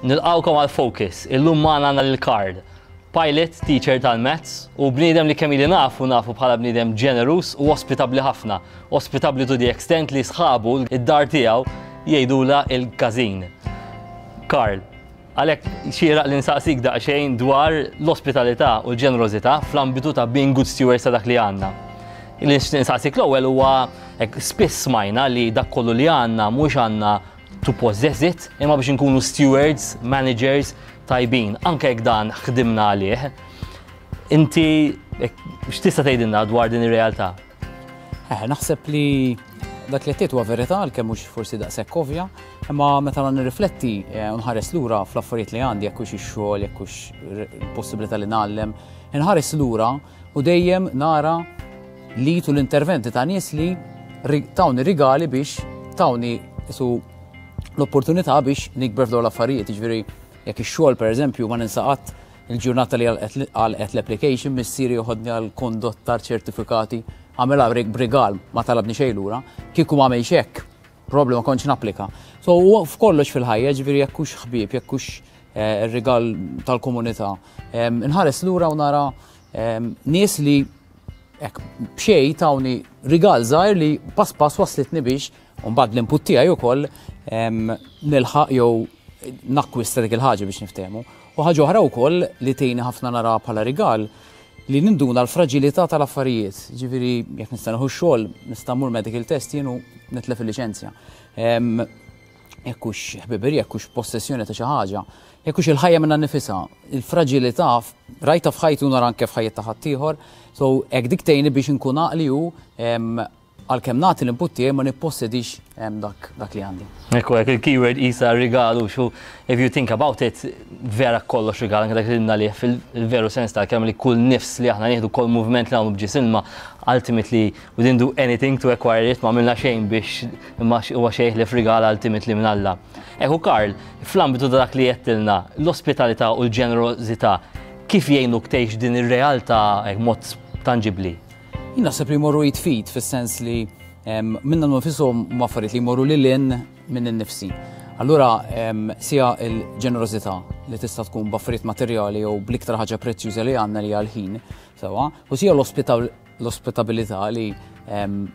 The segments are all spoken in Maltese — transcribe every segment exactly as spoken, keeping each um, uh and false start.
Nilqgħukom għal Focus, illum magħna għandna lil Karl, pilot, teacher tal-maths u bniedem li kemm ili nafu nafu bħala bniedem ġenerus u ospitabli ħafna. Ospitabli to the extent li sħabu id-dar tiegħu jgħidula il-każin. Karl, għalhekk xieraq li nsaqsik daqsxejn dwar l-ospitalità u l-ġenerożità fl-ambitu ta' being good stewards ta' dak li għandna. Li nsaqsik l-ewwel huwa hekk, spiss smajna li dak kollu li għandna mhux għandna to possess it, imma biex nkunu stewards, managers tajbin, anke jekk dan ħdimna għalih. Inti hekk, x'tista' tgħidilna dwar din ir-realtà? Eh, naħseb li dak li għedt huwa verità, għalkemm mhux forsi daqshekk ovvja, imma meta nirrifletti eh, u nħares lura fl-affarijiet li għandi, jekk hux ix-xogħol, jekk hux il-possibilità li ngħallem, nħares lura u dejjem nara li tu l-interventi ta' nies li ri- tawni rigali biex tawni su l-opportunità biex nikber f'dawn l-affarijiet. Jiġifieri jekk ix-xogħol, pereżempju, ma ninsa qatt il-ġurnata li għalqet l-application, missieri joħodni għal kondottar ċertifikati, għamela b'rigal, ma talabni xejn lura. Kieku ma għamilx hekk, probably ma kontx napplika. So huwa f'kollox fil-ħajja, ġifieri jekk hux ħbieb, jekk hux eh, ir-rigal tal-komunità. Em, Inħares lura u nara em, nies li hekk b'xejn tawni rigal żgħir li pass pass waslitni biex mbagħad l-input tiegħi wkoll em, nilħaq jew nakkwista dik il-ħaġa biex niftehmu. U ħaġa oħra wkoll li tgħinni ħafna nara bħala rigal li ninduna l-fragilità tal-affarijiet. Ġifieri jekk nista' nieħu xogħol, nista' mmur medical test jien u nitlef il-liċenzja. Em, Jekk hux ħbiberija, jekk hux possessjoni ta' xi ħaġa, jekk hux il-ħajja minnha nnifisha, il-fragilità rajta f'ħajtu, nara anke f'ħajja ta' ħaddieħor, so hekk dik tgħinni biex inkun għaqli u em, għalkemm nagħti l-input tiegħi ma nippossedix em, dak dak li għandi. Ekku, hekk il-keyword isa rigalu xu, if you think about it, vera kollox rigal, anke dak li li fil-veru sens ta' kemm li kull nifs li aħna nieħdu, kull movement li għamlu b'ġisimna, ultimately we didn't do anything to acquire it, ma għamilna xejn biex, imma huwa xejn li f'rigal ultimately minn Alla. Ekku Karl, fl-ambitu ta' dak li għedtilna, l-ospitalità u l-ġenerożità, kif jgħinuk tgħix din ir-realtà hekk mod tangibli? Jien naħseb li jmorru id f'id, fis-sens li em, minna nfishom huma affarijiet li jmorru lil hinn minn innifsi. Allura em, sija il-ġenerożità li tista' tkun b'affarijiet materjali jew bl-iktar ħaġa prezzjuża li għandna, li hija l-ħin, sewwa, u sija l-ospitabilità li em,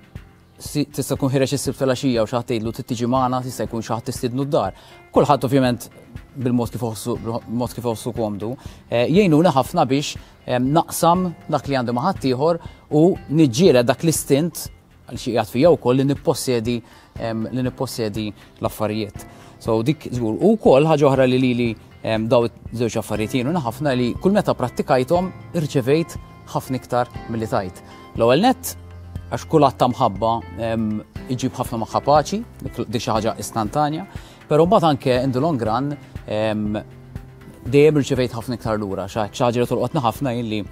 si- tista' tkun ħireġ is-Sibt filgħaxija u xi ħadd tgħidlu trid tiġi magħna, tista' jkun xi ħadd tistiednu d-dar. Kulħadd ovvjament bil-mod kif iħossu bil-mod kif iħossu komdu. Eh, Jgħinuna ħafna biex em, naqsam dak li għandu ma' ħaddieħor u niġġieled dak l-istint għal xi qiegħed fija wkoll li nippossedi em, li nippossedi l-affarijiet. So dik żgur. U wkoll ħaġa oħra li lili em, daw żewġ affarijiet jgħinuna ħafna li kull meta prattikajthom irċevejt ħafna iktar milli tajt. L-ewwel nett għax kull att ta' mħabba em, iġib ħafna magħha paċi, dik dik xi ħaġa istantanja, però mbagħad anke in the long run em, dejjem irċevejt ħafna iktar lura, xi ħaġa li tolqotna ħafna illi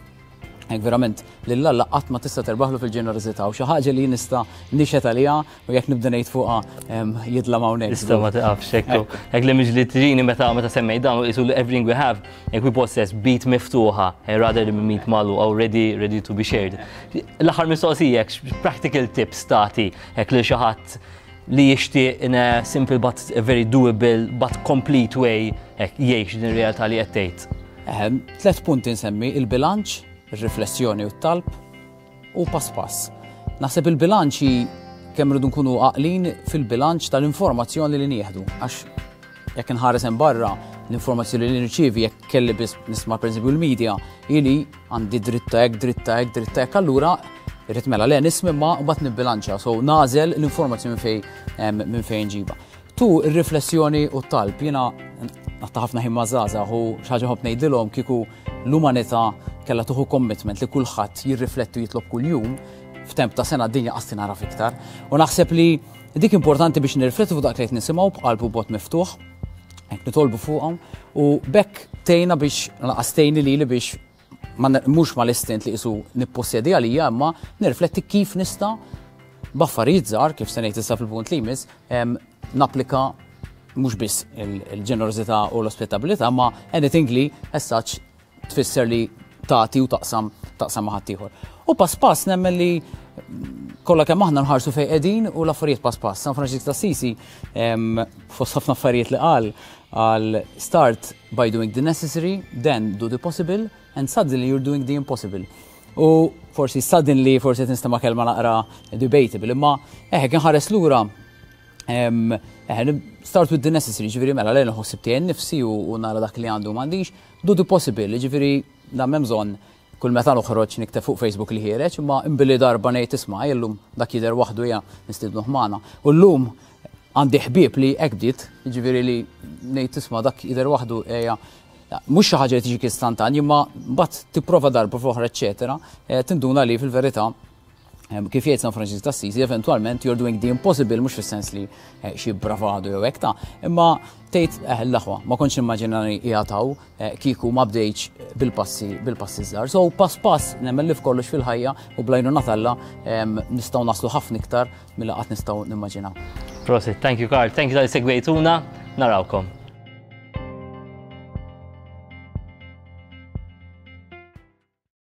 hekk verament lil Alla qatt ma tista' terbaħlu fil-ġenerożità u xi ħaġa li nista' nixhed għaliha u jekk nibda ngħid fuqha em, jidlam hawnhekk. Tista' ma tiqafx ekku. Hekk li miġli tiġini meta meta semmej dan u qisu li everything we have, hekk we possess b'id miftuħa, eh, rather than b'id magħluqa, already ready to be shared. L-aħħar mistoqsija, hekk, practical tips tagħti hekk li xi ħadd li jixtieq in a simple but a very doable but complete way hekk jgħix din ir-realtà li qed tgħid? Ehem, tlet punti nsemmi: il-bilanċ, ir-riflessjoni u t-talb u pass pass. Naħseb il-bilanċ hi kemm rridu nkunu għaqlin fil-bilanċ tal-informazzjoni li nieħdu. Għax jekk nħares hemm barra, l-informazzjoni li nirċievi, jekk kelli biss nisma' pereżempju l-media, ili għandi dritta hekk, dritta hekk, dritta hekk, allura irrid mela le nisma' ma mbagħad nibbilanċa, so nagħżel l-informazzjoni minn fejn em, minn fejn ġiba. Tu ir-riflessjoni u t-talb, jiena nqatta' ħafna ħin ma' żgħażagħ u xi ħaġa ħobb ngħidilhom: kieku l-umanità kellha tieħu commitment li kulħadd jirrifletti u jitlob kuljum, f'temp ta' sena d-dinja qas tingħaraf iktar. U naħseb li dik importanti biex nirriflettu fuq dak li qed nisimgħu b'qalb u bot miftuħ, hekk nitolbu fuqhom u b'hekk tgħinna biex lanqas tgħinni lili biex ma mhux mal-istint li qisu nippossedi għalija, imma nirrifletti kif nista' b'affarijiet żgħar, kif se ngħid issa fil-punt li jmiss, em, napplika mhux biss il-ġenerożità u l-ospitabilità, ma anything li as such tfisser li tagħti u taqsam taqsam ma' ħaddieħor. U pass pass nemmen li Kollha kemm aħna nħarsu fejn qegħdin u l-affarijiet pass pass. San Franġisk t'Assisi, fost ħafna affarijiet li qal, qal "Start by doing the necessary, then do the possible, and suddenly you're doing the impossible." U forsi "suddenly" forsi tinstema' kelma naqra debatable, imma eħe kien ħares lura. Eħe, start with the necessary, ġifieri mela lejn nħossib tiegħi nifsi u nara dak li għandu m'għandix, do the possible, ġifieri dan m'hemm bżonn kull meta noħroġ nikteb fuq Facebook li ħiereġ, imma imbilli darba ngħid, "Isma', illum dak jidher waħdu ja nistidnuh magħna." U llum għandi ħbieb li hekk bdiet, ġifieri li ngħid, "Isma', dak jidher waħdu, ejja." Mhux xi ħaġa li tiġi istantan, imma mbagħad tipprova darba f'oħra, eċetera, eh, tinduna li fil-verità, kif jgħid San Francis d'Assisi, eventualment you're doing the impossible, mhux fis-sens li eh, xi bravado jew hekk ta', imma tgħid, eh, l-aħwa, ma kontx nimmaġina li jgħataw eh, kieku ma bdejtx bil-passi bil-passi żgħar. So pass pass, nemmen li f'kollox fil-ħajja u bl-għajnuna t'Alla nistgħu naslu ħafna iktar milli qatt nistgħu nimmaġinaw. Prosit, thank you, Karl, thank you talli segwejtuna, narawkom.